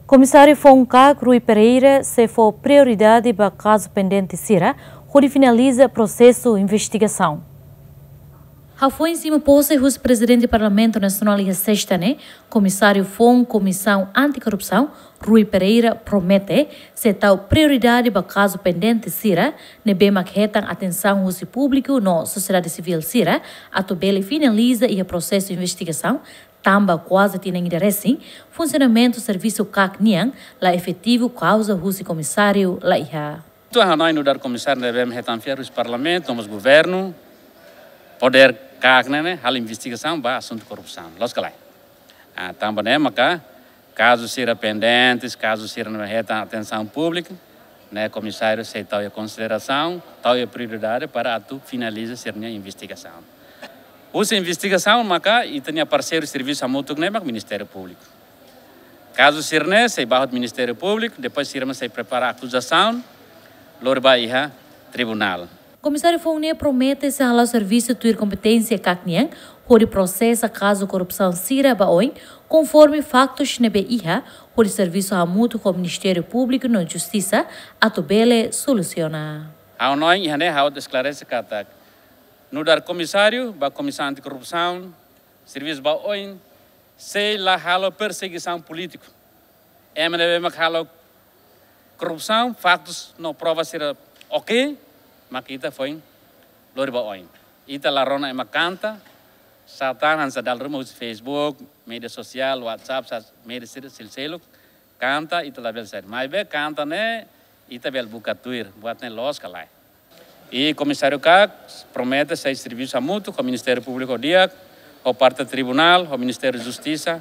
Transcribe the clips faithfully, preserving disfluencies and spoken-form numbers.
Komisáriu Foun-KAK Rui Pereira sei fó prioridade ba kazu pendente sira, hodi finaliza prosesu investigasaun. Hafoin simu pose husi Prezidente Parlamentu Nasionál iha Sesta ne'e, Komisáriu Foun Komisaun Antikorrupsaun, Rui Pereira, promete sei tau prioridade ba kazu pendente sira, ne'ebé mak hetan atensaun husi públiku no sosiedade sivíl sira, atu bele finaliza iha prosesu investigasaun, tanba kuaze tinan ida resin, funsionamentu servisu KAK nian la efetivu kauza husi komisáriu la iha. Entaun ha'u hanoin nu'udar komisáriu ne'ebé hetan fiar husi Parlamentu, no mós governu, podér KAK ne'e, ne'e, halo investigasaun ba asuntu korrupsaun. Loos ka lae? Ah, tanba ne'e maka kazu sira pendentes, kazu sira ne'ebé hetan atensaun públika, ne'e komisáriu sei tau iha konsiderasaun, tau iha prioridade para atu finaliza sira-nia investigasaun. Husi investigasaun maka ita-nia parseiru servisu hamutuk ne'e mak Ministériu Públiku. Kazu sira-ne'e sei ba hotu Ministériu Públiku, depois sira mak sei prepara akuzasaun, lori ba iha tribunál. Komisáriu Foun ne'e promete sei hala'o servisu tuir kompeténsia KAK nian, hodi prosesa kazu korrupsaun sira ba oin, konforme faktus ne'ebé iha, hodi servisu hamutuk ho Ministériu Públiku no Justisa atu bele solusiona. Ha'u hanoin iha ne'e ha'u atu esklarese katak nu'udar komisáriu ba Komisaun Antikorrupsaun, servisu ba oin, sei la halo persegisaun polítiku. Ema ne'ebé mak halo korrupsaun, faktus no prova sira oke, mak ita foin lori ba oin. Ita la rona ema kanta, sá tan hanesan dala ruma husi Facebook, média sosiál, WhatsApp, sá, média sira seluk-seluk, kanta ita labele sá. Maibé kanta ne'e ita bele buka tuir, buat ne'e loos ka lae. I Komisáriu KAK promete sei servisu hamutuk ho Ministériu Públiku di'ak, ho parte tribunál, ho Ministériu Justisa,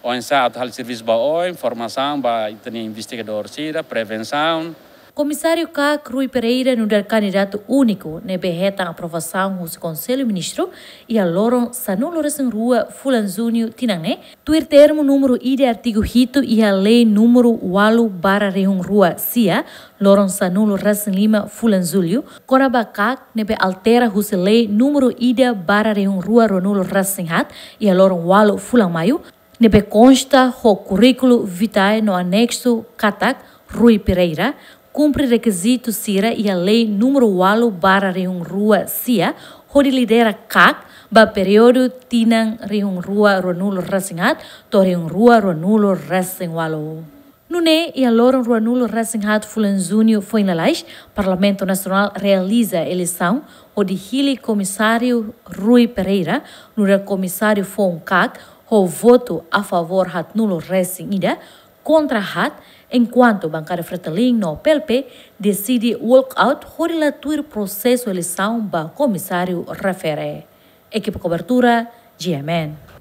oinsá atu halo servisu ba oin, formasaun ba ita-nia investigadór sira, prevensaun. Komisáriu KAK Rui Pereira nu'udar kandidatu úniku ne'ebé hetan aprovasaun husi Konsellu Ministru iha loron sanulu resin rua fulan Juñu tinan ne'e, tuir termu númeru ida artigu hitu iha Lei númeru ualu barra rihun rua sia, loron sanulu resin lima fulan Jullu, kona-ba KAK ne'ebé altera husi Lei númeru ida barra rihun rua ruanulu resin haat iha loron ualu fulan Maiu, ne'ebé konsta ho kurríkulu vitae no aneksu katak Rui Pereira kumpre rekizitu sira iha Lei númeru ualu barra rihun rua sia, hodi lidera KAK ba períodu tinan rihun rua ruanulu resin haat to'o rihun rua ruanulu resin ualu. Nune'e, iha loron ruanulu resin haat fulan Juñu foin lalais, Parlamentu Nasionál realiza eleisaun hodi hili Komisáriu Rui Pereira nu'udar Komisáriu Foun KAK ho votu a favór haatnulu resin ida, kontra haat, enkuantu Bankada Fretilin no PLP deside walkout hodi la tuir prosesu eleisaun ba komisáriu refere. Ekipa kobertura, GMN.